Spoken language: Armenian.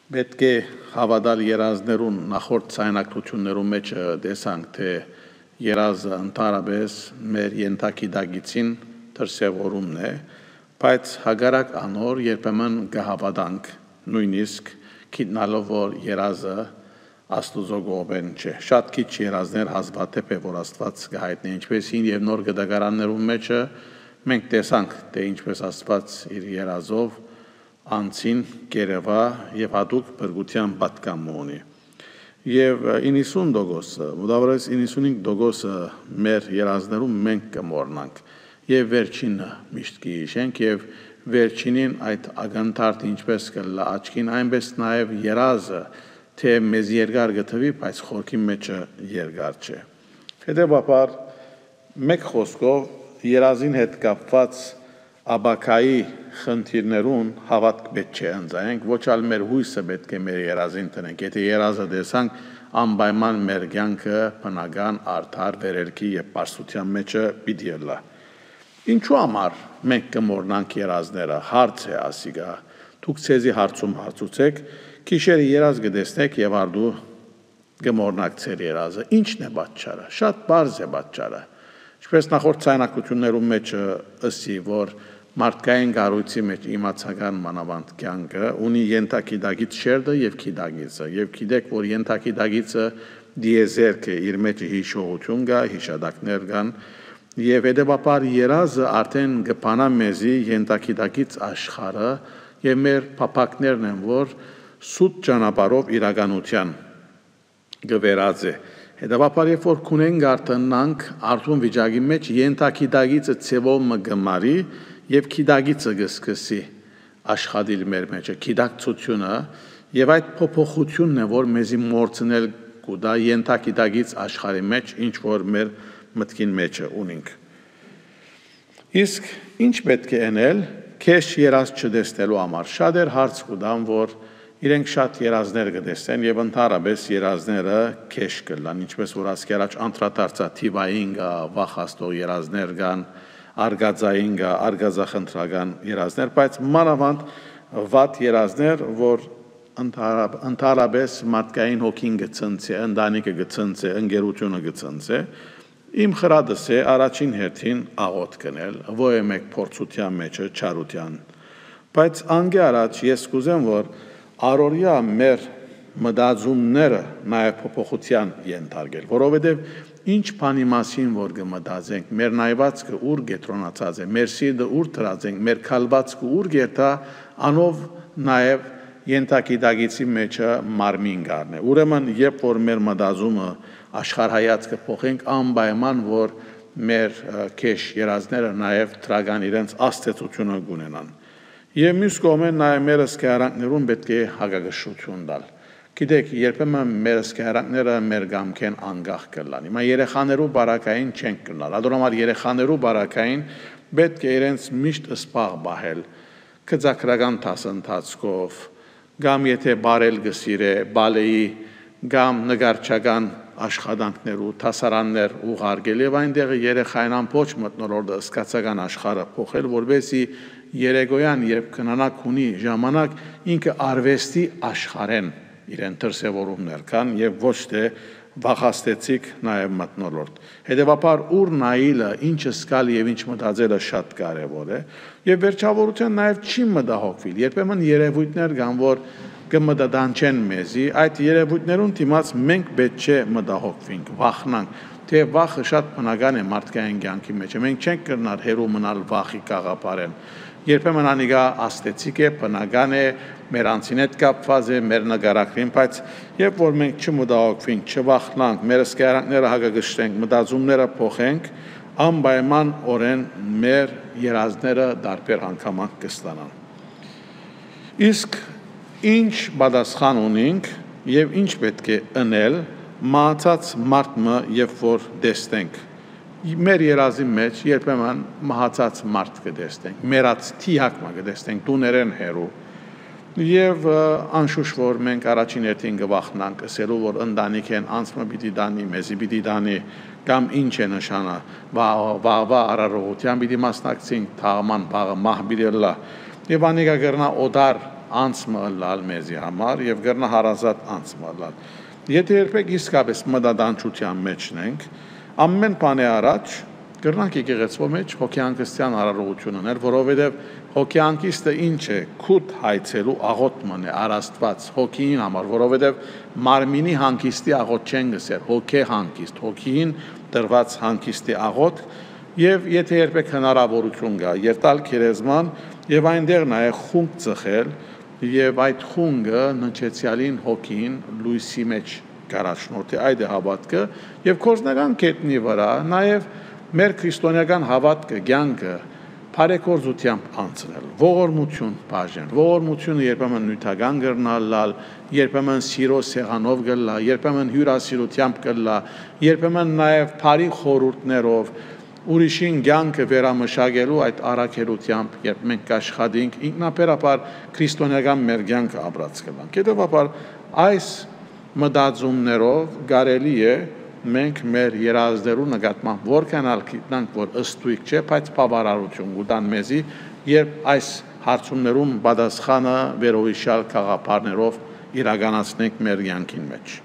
Պետք է հավատալ երազներուն նախորդ ցայնակություններում մեջ տեսանք թե երազը ընդհանրապես մեր ենթակիդագիցին դրսևորումն է, բայց հագարակ անոր երբեմն կհավատանք նույնիսկ գիտնալով որ երազը Աստուծո կողմեն չէ։ Շատ քիչ երազներ հազվադեպ է որ Աստված կհայտնի ինչպես հին եւ նոր գդագարաններում մեջը մենք տեսանք թե ինչպես Աստված իր երազով անցին կերևա եւ հատուկ բրգության պատկամ ունի։ Եվ 90%-ը, մոտավորապես 95%-ը մեր երազներում մենք կմոռնանք եւ վերջինը միշտ կհիշենք եւ վերջինին այդ ագանթարտ ինչպես կլա աչքին այնպես նաեւ երազը թե մեզ երկար գտվի, բայց խորքի մեջը երկար չէ։ Հետևաբար մեկ խոսքով երազին հետ կապված աբակայի խնդիրներուն հավատք պետք չէ ընձայենք, ոչ ալ մեր հույսը պետք է մեր երազին տնենք, եթե երազը տեսանք անպայման մեր կյանքը բնական արդար վերելքի եւ պարսության մեջը պիտի լա։ Ինչու համար մենք կմոռնանք երազները, հարց է ասիգա, դուք ցեզի հարցում հարցուցեք, գիշերը երազ կտեսնեք եւ արդու կմոռնաք ձեր երազը, ինչն է պատճառը, շատ բարձ է պատճառը, ինչպես նախորդ ցայնակություններում մեջ ըսի, որ մարդկային գառույցի մեջ իմացական մանավանդ կյանքը ունի ենթակիդագից շերտը եւ քիդագիցը եւ գիտեք որ ենթակիդագիցը դիեզերք է իր մեջ հիշողություն կա հիշադակներ կան եւ հետեւաբար երազը արդեն կփանա մեզի ենթակիդագից աշխարհը եւ մեր փափակներն են որ սուտ ճանապարհով իրականության գվերած է հետեւաբար երբ որ քունեն գարտնանք արդյուն վիճակի մեջ ենթակիդագիցը ցևով մգմարի եւ քիդագիցը գսկսի աշխատիլ մեր մեջը քիդակցությունը եւ այդ փոփոխությունն է որ մեզի մորցնել կուտա ենթակիդագից աշխարհի մեջ ինչ որ մեր մտքին մեջը ունենք իսկ ինչ պետք է անել քեշ երազ չդեսնելու համար շատեր հարց կուտան որ իրենք շատ երազներ կտեսնեն եւ ընդհանրապես երազները քեշ կլան ինչպես որ ասկի առաջ անդրադարձա թիվային կա վախաստող երազներ կան արգածային կա արգազախնդրական երազներ բայց մանավանդ վատ երազներ որ ընդհանրապես մարդկային հոգին գծնցե ընտանիքը գծնցե ընկերությունը գծնցե իմ խրատս է առաջին հերթին աղոթ կնել ո՞ե մեկ փորձության մեջը չարության բայց անգե առաջ ես կուզեմ որ Արորիա մեր մտածումները նաև փոփոխության ենթարկել, որովհետև ինչ բանի մասին որ կմտածենք, մեր նայվածքը ուր կենտրոնացած է, մեր սիրտը ուր դրած ենք, մեր քալվածքը ուր գերտա, անով նաև ենթակիդագիցի մեջը մարմին գարն է։ Ուրեմն երբ որ մեր մտածումը աշխարհայացքը փոխենք, անպայման որ մեր քեշ երազները նաև դրական իրենց աստեցությունը կունենան։ Եվ մյուս կողմեն նաև մեր սկայարանքներում պետք է հագագշություն տալ։ Գիտեք, երբեմն մեր սկայարանքները մեր գամքեն անգախ կլան։ Հիմա երեխաներու բարակային չենք կլալ։ Ադորամար երեխաներու բարակային պետք է իրենց միշտ սպաղ բահել։ Կծակրական դասընթացքով, գամ եթե բարել գսիրե, բալեի, գամ նգարչական աշխատանքներու, դասարաններ ուղարկել եւ այնտեղ երեխային ամբողջ մտնոլորտը սկացական աշխարհը փոխել, որովհետեւ երեգոյան երբ քնանակ ունի ժամանակ ինքը արվեստի աշխարհեն իրեն դրսևորումներ կան եւ ոչ թե վախաստեցիկ նաեւ մտնոլորտ հետեւաբար ուր նայելը ինչը սկալ եւ ինչ մտածելը շատ կարեւոր է եւ վերջավորության նաեւ չի մտահոգվել երբեմն երևույթներ կան որ կմտադանչեն մեզի այդ երևույթներուն դիմաց մենք պետք չէ մտահոգվենք վախնանք թե վախը շատ բնական է մարդկային կյանքի մեջ մենք չենք կրնալ հերո մնալ վախի կաղապարեն երբեմն անիգա աստեցիկ է բնական է մեր անձին հետ կապված է մեր նկարակրին բայց երբ որ մենք չմտահոգվենք չվախնանք մեր սկայարանքները հագագշտենք մտածումները փոխենք անպայման օրեն մեր երազները դարբեր անգամանք կստանան իսկ ինչ պատասխան ունենք եւ ինչ պետք է անել մահացած մարդը երբ որ տեսնենք մեր երազի մեջ երբեմն մահացած մարդ կտեսնենք մեռած թիակ կտեսնենք տուներեն հերու եւ անշուշտ որ մենք առաջին հերթին կվախնանք ասելու որ ընտանիք են անցումը պիտի դանի մեզի պիտի դանի կամ ինչ է նշանը վաղվա արարողության պիտի մասնակցենք թաղման բաղը մահ պիտի լա եւ անիկա կրնա օդար անցը լալ մեզի համար եւ գրնա հարազատ անցը լալ։ Եթե երբեք իսկապես մտադանչության մեջն ենք, ամեն բանի առաջ գրնանք եկեղեցու մեջ հոգեանկստյան արարողություն ունել, որովհետև հոգեանկիստը ինչ է, քուտ հայցելու աղոթման է առաստված հոգին համար, որովհետև մարմինի հանգիստի աղոթ չեն գսեր, հոգե հանգիստ, հոգին դրված հանգիստի աղոթ, եւ եթե երբեք հնարավորություն կա, երտալ քերեզման եւ այնտեղ նաեւ խունկ ծխել եւ այդ խունգը նչեցյալին հոգին լույսի մեջ կարաշնորթի այդ է հավատքը եւ կորզնական կետնի վրա նաեւ մեր քրիստոնեական հավատքը կյանքը բարեգործությամբ անցնել, ողորմություն բաժանել, ողորմությունը երբեմն նյութական գրնալ, երբեմն սիրո սեղանով գլա, երբեմն հյուրասիրությամբ գլա, երբեմն նաև բարի խորհուրդներով ուրիշին կյանքը վերամշակելու այդ առաքելությամբ, երբ մենք աշխատենք, ինքնաբերաբար քրիստոնեական մեր կյանքը ապրած կլանք։ Հետևաբար այս մտածումներով կարելի է մենք մեր երազներու նկատմամբ որքան գիտնանք, որ ըստույք չէ, բայց բավարարություն կտան մեզի, երբ այս հարցումներում պատասխանը վերոհիշյալ գաղափարներով իրականացնենք մեր կյանքին մեջ։